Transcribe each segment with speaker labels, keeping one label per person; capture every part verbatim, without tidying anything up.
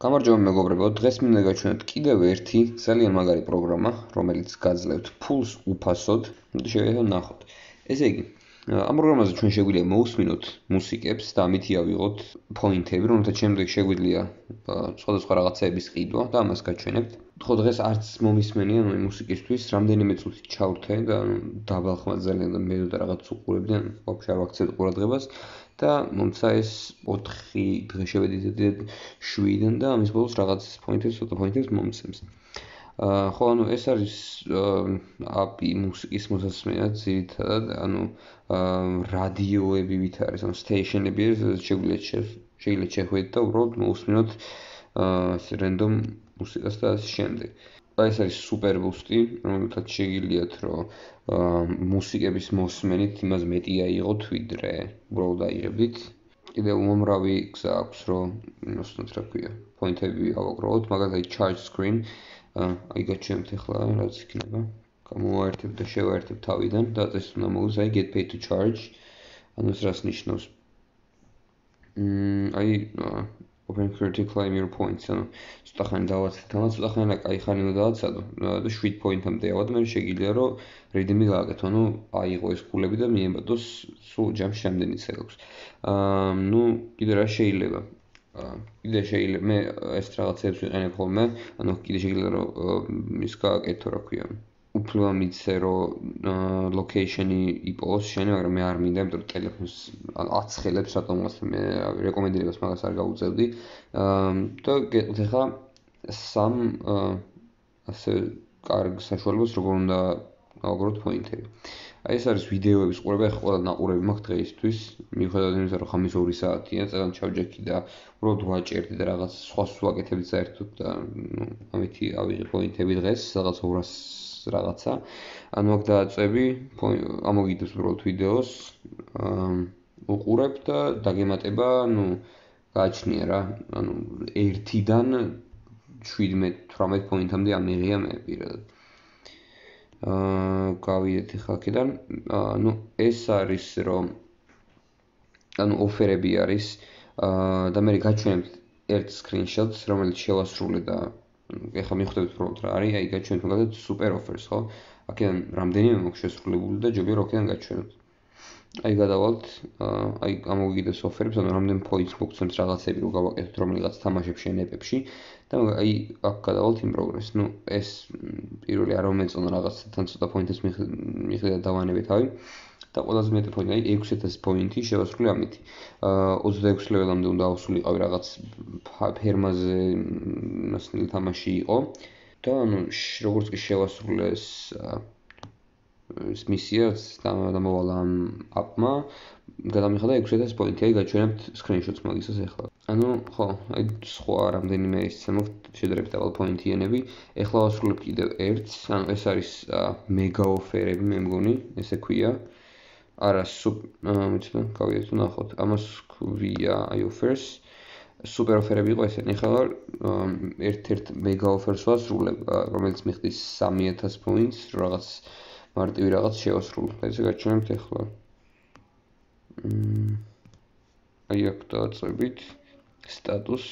Speaker 1: გამარჯობა მეგობრებო, დღეს მინდა გაჩვენოთ კიდევ ერთი ძალიან მაგარი პროგრამა, რომელიც გაძლევთ ფულს უფასოდ. შევიდეთ ნახოთ. ესე იგი, ამ პროგრამაზე ჩვენ შეგვიძლია მოусმინოთ მუსიკებს და ამით ავიღოთ პოინტები, რომელთაც შემდეგ შეგვიძლია სხვადასხვა რაღაცეების ყიდვა და ამას გაჩვენებთ. ხო, დღეს არც მომისმენია ნუ მუსიკისთვის, რამდენიმე წუთი ჩავრთე და დაბალ ხმად ძალიან და მე და რაღაც უყურებდი, ან ვაფშე არ ვაქცევთ ყურადღებას. და მომცა ეს ოთხი დღე შევედით შვიდიდან და ამის ბოლოს რაღაც პოინტებს, ცოტა პოინტებს მომცემს. აა ხო, ანუ ეს არის აპი მუსიკის მოსასმენად ძირითადად, ანუ რადიოები ვით არის, ანუ სტეიშენები არის, შეგვიძლია შეიძლება შეხვიდეთ და უბრალოდ მოусმინოთ აა რენდომ მუსიკას და ასე შემდეგ. აი ეს არის სუპერ ბუსტი, რომელთაც შეგიძლიათ რომ მუსიკების მოსმენით იმას მეტი აიღოთ, ვიდრე უბრალოდ აიღებდით. კიდევ უმამრავი გზა აქვს, რომ ოსნოთ რა ქვია, პოინტები ავაგროვოთ, მაგალითად charge screen, აი გაჩვენებთ ახლა რაც იქნება. გამოვაერთებ და შევაერთებ თავიდან და ეს უნდა მოვუძ აი get paid to charge. ანუ ეს რას ნიშნავს? მმ აი open critic claim your points, ანუ ცოტა ხანი დავაცდეთ, ამას ცოტა ხანი კაი ხანი უნდა დავაცადო და შვიდ პოინტამდე ავად, მე შეგიძლია რომ redeem-ი გააკეთო, ანუ აიღო ეს ფულები და მიემბადოს სულ ჯამში რამდენიც აქვს. აა ნუ კიდე რა შეიძლება? აა კიდე შეიძლება მე ეს რაღაცებს ვიყენებ ხოლმე, ანუ კიდე შეგიძლია რომ ის გააკეთო, რა ქვია. უფლება მიცე რომ location-ი იპოვოს შენი, მაგრამ მე არ მინდა, იმიტომ რომ ტელეფონს აცხელებს რატომღაც მე რეკომენდირებას მაგას არ გავუწევდი. აა და გეტყვით ახლა სამ ასე კარგ საშუალებას როგორ უნდა ავაგროთ პოინტები. აი ეს არის ვიდეოების ყურება, ახლა ყველა ნაყურები მაქვს დღეისთვის, მიუხედავად იმისა, რომ ხამის ორი საათია, წელან ჩავჯექი და უბრალოდ ვაჭერდი და რაღაც სხვას ვაკეთებდი საერთოდ და ნუ ამითი ავიღე პოინტები დღეს, რაღაც ორას რაღაცა. ანუ აქ დააწვევი, ამოგიდებს უბრალოდ ვიდეოს, უყურებ და დაგემატება, ნუ გააჩნია რა, ანუ ერთიდან შვიდმეტ თვრამეტ პოინტამდე ამიღია მე პირადად. აა გავიდეთ ახლა აქედან, ნუ ეს არის რომ ანუ ოფერები არის და მე გაჩვენებთ ერთ screenshot-ს, რომელიც შევასრულე და ეხლა მიხვდებით უბრალოდ რა არის, აი გაჩვენებთ მაგალითად super offers, ხო? აქედან რამდენიმე მაქვს შესრულებული და ჯობია რომ აქედან გაჩვენოთ. აი გადავალთ, აი გამოგიგდეს ოფერებს, ანუ რამდენ points მოგცემს რაღაცები რომ გავაკეთოთ რომელიღაც თამაშებში ან ეპებში და აი აქ გადავალთ in progress. ნუ ეს პირველი არ მომეწონა რაღაცთან ცოტა points-ს მიხვდა დავანებე თავი და ყველაზე მეტი points, აი ექვსი ათასი points შევასრულე ამით. აა ოცდაექვსი level-ამდე უნდა ავსულიყავი რაღაც ფერმაზე მასნილი თამაში იყო და ანუ როგორც კი შევასრულე ეს ეს მისიაც დამოვალა ამ აპმა, გადამიხადა ექვსი ათასი points, აი გაჩვენებთ screenshot-ს მაგისას ახლა. ანუ ხო, აი სხვა რამდენიმე ისე მოხდა შედარებით დაბალ პოინტიანები. ახლა ვასრულებ კიდევ ერთს, ანუ ეს არის მეგა ოფერები, მე მგონი, ესე ქვია. არა, სუპ, მიცდა, გავიდეთ თუ ნახოთ. ამას ქვია აი offers. Super ოფერები იყო ესენი. ახლა ერთ-ერთ მეგა ოფერს ვასრულებ, რომელიც მიხდის სამი ათასი points, რაღაც მარტივი რაღაც შევასრულე. და ესე გაჩვენებთ ახლა. მმ აი აქ დააწვევით status.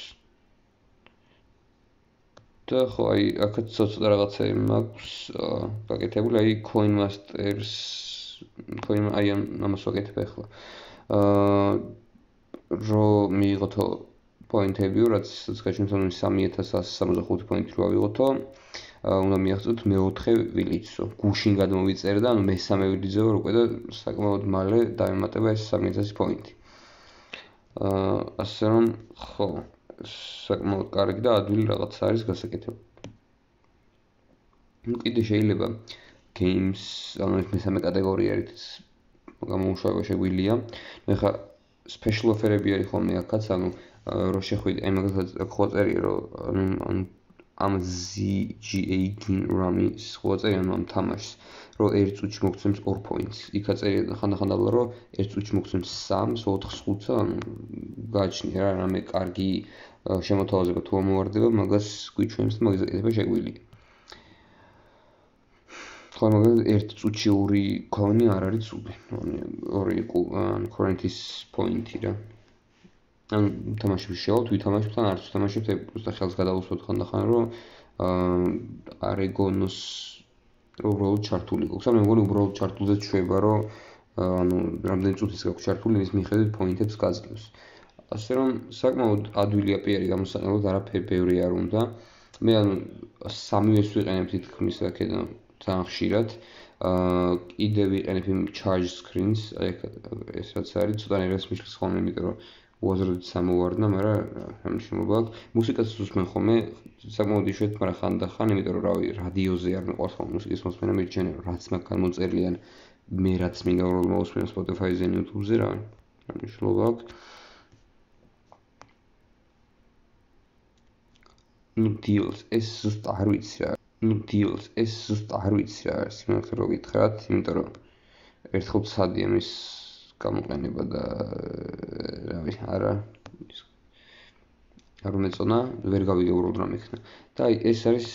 Speaker 1: და ხო, აი აქაც ცოტა რაღაცები მაქვს გაკეთებული, აი coin masters, coin აი ამას ვაკეთებ ახლა. აა რომ მიიღოთო პოინტები, რაც გაჩვენებთ, ანუ სამი ათასი ასი სამოცდახუთი პოინტი რო ავიღოთო, უნდა მიაღწევთ მეოთხე ვილიცო. გუშინ გადმოვიწერე და ანუ მესამე ვილიცზე ვარ უკვე და საკმაოდ მალე დაემატება ეს სამი ათასი პოინტი. აა ასე რომ ხო, საკმაოდ კარგი და ადვილი რაღაც არის გასაკეთებული. ნუ კიდე შეიძლება games, ანუ ეს მესამე კატეგორია არის, გამოუშავება შეგვიძლია. ახლა special offer-ები არის ხოლმე აქაც, ანუ რო შეხვიდე, აი მაგალითად ხო წერია რომ ამ Z G A Rami-ს ხო წერია ამ თამაშს, რომ ერთ წუთში მოგცემს ორი points. იქა წერია ხანდახან დაბლა რომ ერთ წუთში მოგცემს სამს, ოთხს, ხუთს, ანუ გააჩნია რა, რამე კარგი შემოთავაზება თუ ამოვარდება, მაგას გვიჩვენებს და მაგის გაკეთება შეგვიძლია. ხო, მაგალითად ერთ წუთში ორი coin-ი არ არის ცუდი. ორი currency point-ი რა. ან თამაშებს შევალთ, ვითამაშებთ ან არც ვითამაშებთ, უბრალოდ ხელს გადავუსვათ ხანდახან, რომ არეგონოს უბრალოდ ჩართული გვაქვს. ან მე მგონი უბრალოდ ჩართულზე ჩვება, რომ ანუ რამდენი წუთის გაქვს ჩართული, ის მიხედვით პოინტებს გაძლევს. ასე რომ საკმაოდ ადვილია პიარი გამოსაყენებლად, არაფერი ბევრი არ უნდა. მე ანუ სამივეს ვიყენებ თითქმის აქედან ძალიან ხშირად. აა კიდე ვიყენებ იმ charge screens, აი ეს რაც არის, ცოტა ნერვებს მიშლის ხოლმე, იმიტომ რომ უაზროდ სამოვარდნა, მაგრამ რა მნიშვნელობა აქვს. მუსიკას უსმენ ხოლმე, საკმაოდ იშვიათად, მაგრამ ხანდახან, იმიტომ რომ რავი, რადიოზე არ მიყვარს ხოლმე მუსიკის მოსმენა, მიჩვენე რომ რაც მაგან მოწერილი ან მე რაც მინდა უბრალოდ მოვუსმენ Spotify-ზე, YouTube-ზე, რა მნიშვნელობა აქვს. ნუ deals ეს ზუსტ არ ვიცი რა. ნუ deals ეს ზუსტ არ ვიცი რა არის, სიმართლე რო გითხრათ, იმიტომ რომ ერთხელ ცადი ამის გამოყენება და რავი, არა არ უმეწონა, ვერ გავიგე უბრალოდ რა მექნა. და აი ეს არის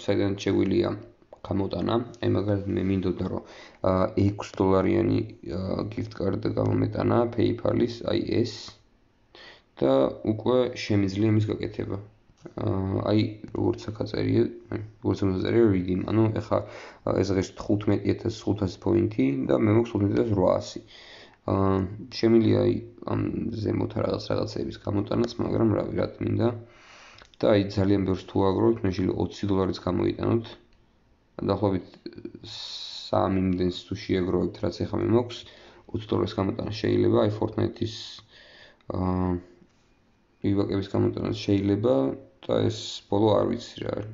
Speaker 1: საიდან შეგვიძლია გამოტანა, აი მაგალითად მე მინდოდა რომ ექვსი დოლარიანი gift card გამომეტანა PayPal-ის, აი ეს და უკვე შემიძლია მის გაკეთება. აი როგორც აქ აწერია, როგორც აწერია redeem, ანუ ეხლა ეს დღეს თხუთმეტი ათას ხუთასი პოინტი და მე მაქვს თხუთმეტი ათას რვაასი. აა შემიძლია აი ამ ზემოთ რაღაც რაღაცების გამოტანაც, მაგრამ რავი, რა მინდა. და აი ძალიან ბევრს თუ აგროვოთ, მე შეიძლება ოცი დოლარიც გამოიტანოთ. დაახლოებით სამი იმდენს თუ შეაგროვებთ, რაც ეხლა მე მაქვს, ოცი დოლარის გამოტანა შეიძლება, აი Fortnite-ის აა ივაკების გამოტანაც შეიძლება და ეს ბოლო არ ვიცი რა არის.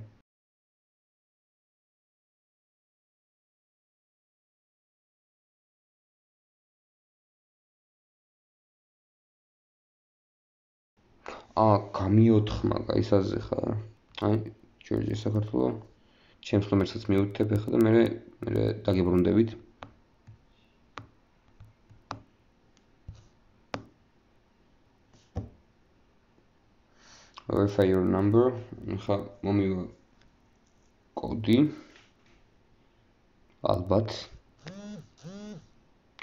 Speaker 1: აა გამიოთხმა გაისაზე ხარ. აი ჯორჯია საქართველო. ჩემს ნომერსაც მიუთითებ ახლა და მე მე დაგიბრუნდებით. Verify your number. ახლა მომივა კოდი. ალბათ.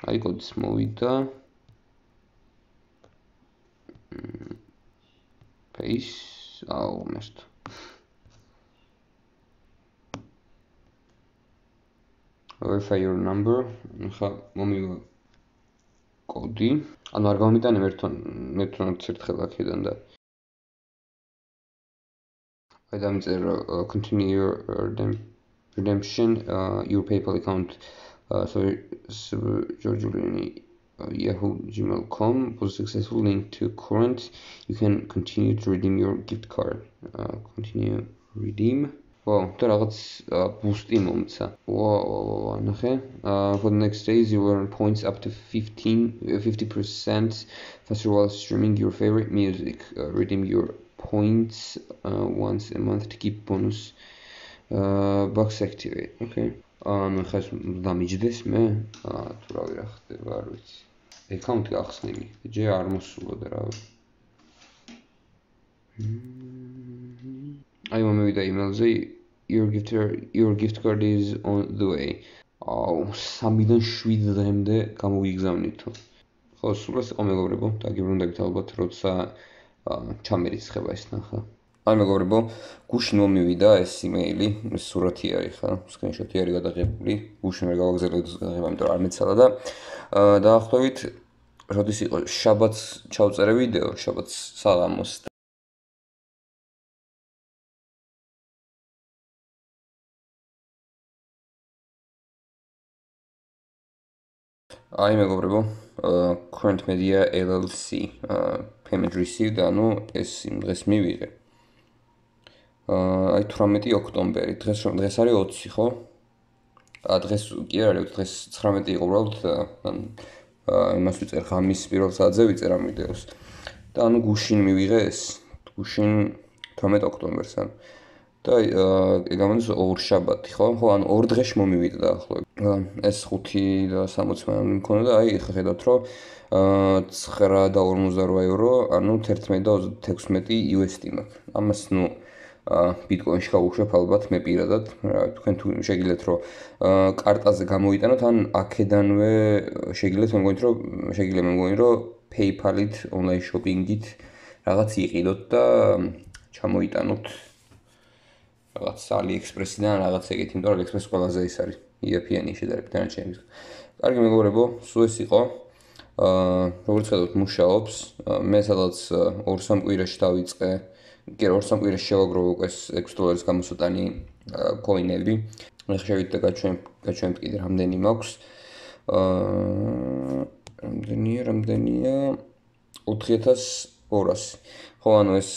Speaker 1: აი კოდიც მოვიდა. Paste. აუ, მესტ. Verify your number. ახლა მომივა კოდი. ანუ არ გამომიტანე ერთთან, ერთთანაც ერთხელ აქედან და აი დამიწერე continue your redemption uh, your PayPal account uh, so Georgiulini uh, yahoo gmail dot com was successful link to current. You can continue to redeem your gift card. Uh, continue redeem. Wow, და რაღაც boost-ი მომცა. Wow, ნახე. Uh, for the next days you earn points up to fifteen fifty percent faster while streaming your favorite music. Uh, redeem your points uh, once a month to keep bonus uh, bucks activate. Okay. ანუ ხეს დამიჯდეს მე? აა თუ რავი რა ხდება, არ ვიცი. აკაუნტი გახსნილი. ჯერ არ მოსულა და რავი. აი მომივიდა email-ზე your gift your gift card is on the way. აუ, სამიდან შვიდ დღემდე გამოვიგზავნითო. ხო, სულ ეს იყო მეგობრებო, დაგიბრუნდებით ალბათ, როცა ჩამერიცხება ეს ნახა. აი მეგობრებო, გუშინ მომივიდა ეს იმეილი, ეს სურათი არის ხა, სკრინშოტი არის გადაღებული. გუშინ ვერ გავაგზავნე გადაღება, იმიტომ რომ არ მეცალა და დაახლოებით როდის იყო შაბათს ჩავწერე ვიდეო, შაბათს საღამოს. აი მეგობრებო, Current Media L L C payment received, ანუ ეს იმ დღეს მივიღე. აი თვრამეტი ოქტომბერი, დღეს რომ დღეს არის ოცი, ხო? ა დღეს კი არ არის, დღეს ცხრამეტი იყო უბრალოდ, ან იმას ვიწერ ღამის პირველ საათზე ვიწერ ამ ვიდეოს. და ანუ გუშინ მივიღე ეს, გუშინ თვრამეტი ოქტომბერს, ან და გამონდეს ორ შაბათი, ხო? ხო, ანუ ორ დღეში მომივიდა დაახლოებით. ეს ხუთი და სამოცი მანამდე მქონდა და აი ხა ხედავთ რომ ცხრა და ორმოცდარვა ევრო, ანუ თერთმეტი და ოცდათექვსმეტი იუ ეს დი მაქვს. ამას ნუ ბიტკოინში გავუშვებ ალბათ მე პირადად, რა თქვენ თუ შეგიძლიათ რომ კარტაზე გამოიტანოთ, ან აქედანვე შეგიძლიათ მე მგონი რომ შეგიძლია მე მგონი რომ PayPal-ით, online shopping-ით რაღაც იყიდოთ და ჩამოიტანოთ რაღაც AliExpress-დან რაღაც ეგეთი, იმიტომ რომ AliExpress ყველაზე ის არის იაფიანი შედარებით დანარჩენების. კარგი მეგობრებო, სულ ეს იყო. აა როგორც ხედავთ, მუშაობს. მე სადღაც ორ სამ კვირაში დავიწყე. კი, ორ სამ კვირაში შევაგროვე უკვე ექვსი დოლარის გამოსატანი კოინები. მე ხშევით და გაჩვენ გაჩვენთ კიდე რამდენი მაქვს. აა რამდენია, რამდენია ოთხი ათას ორასი. ხო, ანუ ეს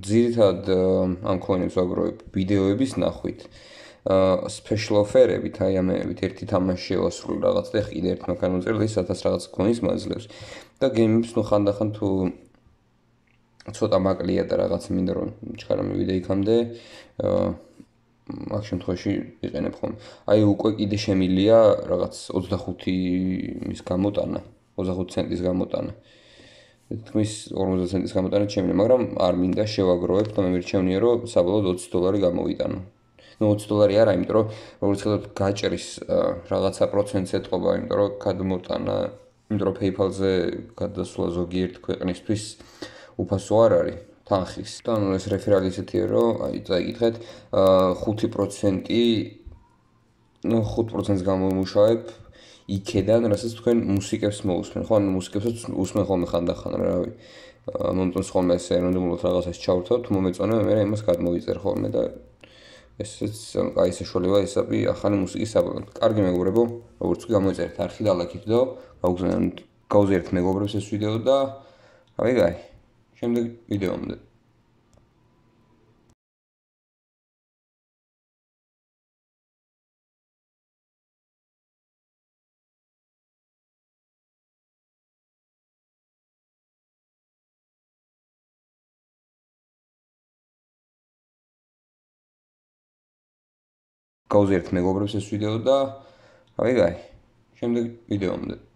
Speaker 1: ძირითადად ამ კოინებს ვაგროვებ ვიდეოების ნახვით. აა special offer-ებით, აი ამებით ერთი თამაში შევასრულე რაღაც და კიდე ერთ მაქან უწერდი სათას რაღაც კოინს მაძლევს. და გეიმებს ნუ ხანდახან თუ ცოტა მაკლია და რაღაც მინდა რომ ჩქარა მივიდე იქამდე, აა მაგ შემთხვევაში ვიყენებ ხოლმე. აი უკვე კიდე შემილია რაღაც ოცდახუთი მის გამოტანა, ოცდახუთი ცენტის გამოტანა. თქმის ორმოცდაათი ცენტის გამოტანა შემიძლია, მაგრამ არ მინდა შევაგროვებ და მე მირჩევნია რომ საბოლოოდ ოცი დოლარი გამოვიტანო. ნუ ოცი დოლარი არა, იმიტომ რომ როგორც ხედავთ გაჭრის რაღაცა პროცენტს ეთყობა, იმიტომ რომ გადმოტანა, იმიტომ რომ PayPal-ზე გადასვლა ზოგიერთ ქვეყნისთვის უფასო არ არის თანხის. და ნუ ეს რეფერალი ისეთია, რომ აი წაიკითხეთ, ხუთი პროცენტი, ნუ ხუთ პროცენტს გამომუშავებ იქედან, რასაც თქვენ მუსიკებს მოусმენ. ხო, ანუ მუსიკებსაც უსმენ ხოლმე ხანდახან, რავი. მომწონს ხოლმე ეს ეროვნულად რაღაცას ჩავრთავ, თუ მომეწონა, მე იმას გადმოვიწერ ხოლმე და ესეც აი საშუალება ისაბი ახალი მუსიკის საბოლოოდ. კარგი მეგობრებო, როგორც კი გამოიწერეთ არხი და ლაიქით და გაუგზავნოთ გაუზიარეთ მეგობრებს ეს ვიდეო და რავი გაი. შემდეგ ვიდეომდე. გაუზიარეთ მეგობრებს ეს ვიდეო და რავი გაი. შემდეგ ვიდეომდე.